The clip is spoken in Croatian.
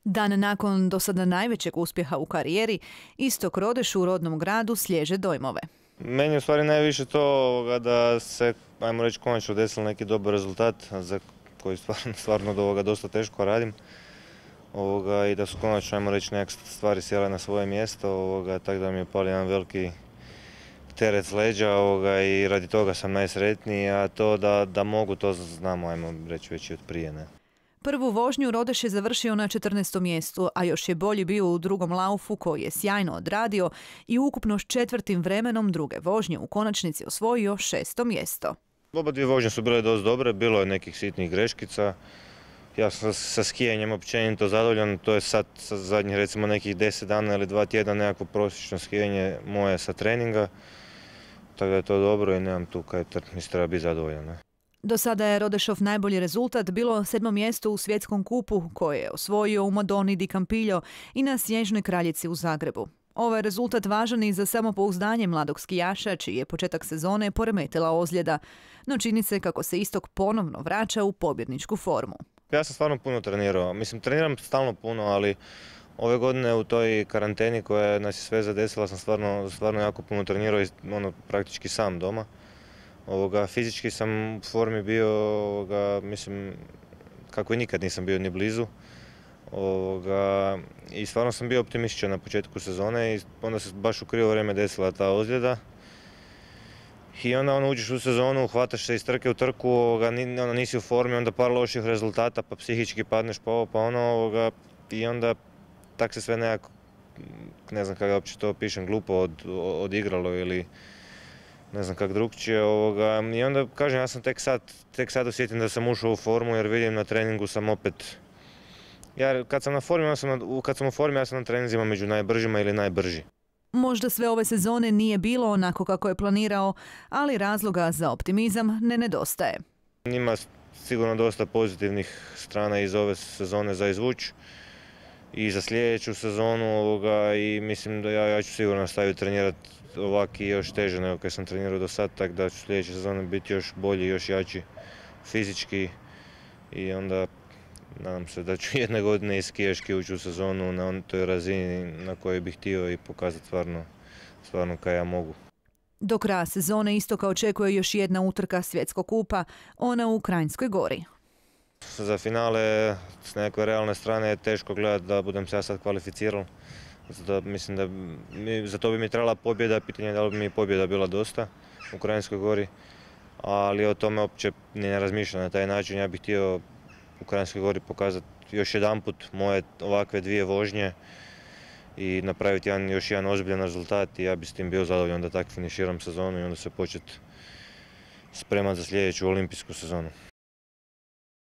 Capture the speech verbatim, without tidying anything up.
Dan nakon do sada najvećeg uspjeha u karijeri, Istok Rodeš u rodnom gradu slježe dojmove. Meni je u stvari najviše to ovoga, da se, ajmo reći, konačno desilo neki dobar rezultat za koji stvarno, stvarno od ovoga dosta teško radim. Ovoga, I da su konačno, ajmo reći, neke stvari sjele na svoje mjesto, ovoga, tako da mi je pali jedan veliki teret s leđa ovoga, i radi toga sam najsretniji, a to da, da mogu, to znamo, ajmo reći, već i od prije. Ne? Prvu vožnju Rodeš je završio na četrnaestom mjestu, a još je bolji bio u drugom laufu koji je sjajno odradio i ukupno s četvrtim vremenom druge vožnje u konačnici osvojio šesto mjesto. Oba dvije vožnje su bile dosta dobre, bilo je nekih sitnih greškica. Ja sam sa skijanjem općenito zadovoljan, to je sad sa zadnjih recimo nekih deset dana ili dva tjedna nekako prosječno skijanje moje sa treninga. Tako da je to dobro i nemam tu kaj mislim treba biti zadovoljan. Ne? Do sada je Rodešov najbolji rezultat bilo sedmo mjesto u svjetskom kupu koje je osvojio u Madoni di Campiglio i na Snježnoj kraljici u Zagrebu. Ovaj rezultat važan i za samopouzdanje mladog skijaša čiji je početak sezone poremetila ozljeda, no čini se kako se Istok ponovno vraća u pobjedničku formu. Ja sam stvarno puno trenirao, mislim treniram stalno puno, ali ove godine u toj karanteni koja nas je sve zadesila sam stvarno, stvarno jako puno trenirao i ono, praktički sam doma. Ovoga, fizički sam u formi bio, ovoga, mislim, kako i nikad nisam bio ni blizu. Ovoga, I stvarno sam bio optimističan na početku sezone i onda se baš u krivo vrijeme desila ta ozljeda. I onda ono, uđeš u sezonu, hvataš se iz trke u trku, ovoga, ono, nisi u formi, onda par loših rezultata, pa psihički padneš pa ovo, pa ono, ovoga, i onda tak se sve nekako, ne znam kako uopće to opišem, glupo od, odigralo ili ne znam kako drugčije. I onda, kažem, ja sam tek sad, tek sad osjetim da sam ušao u formu jer vidim na treningu sam opet, ja kad sam na formi, ja sam na, kad sam u formi, ja sam na treninzima među najbržima ili najbrži. Možda sve ove sezone nije bilo onako kako je planirao, ali razloga za optimizam ne nedostaje. Ima sigurno dosta pozitivnih strana iz ove sezone za izvući i za sljedeću sezonu ovoga, i mislim da ja, ja ću sigurno nastaviti trenirati ovako i još teže nego kad sam trenirao do sad, tako da ću sljedeće sezone biti još bolji, još jači fizički i onda nadam se da ću jedne godine i skijaški ući u sezonu na toj razini na kojoj bih htio i pokazati stvarno, stvarno kaj ja mogu. Do kraja sezone Istoka očekuje još jedna utrka svjetskog kupa, ona u Kranjskoj Gori. Za finale s nekakve realne strane je teško gledati da budem se ja sad kvalificirao. Zato mislim da mi, za to bi mi trebala pobjeda, pitanje je da li bi mi pobjeda bila dosta u Kranjskoj Gori, ali o tome uopće ne razmišljam na taj način. Ja bih htio u Kranjskoj Gori pokazati još jedanput moje ovakve dvije vožnje i napraviti jedan, još jedan ozbiljan rezultat i ja bih s tim bio zadovoljan da tako finiširam sezonu i onda se početi spremati za sljedeću olimpijsku sezonu.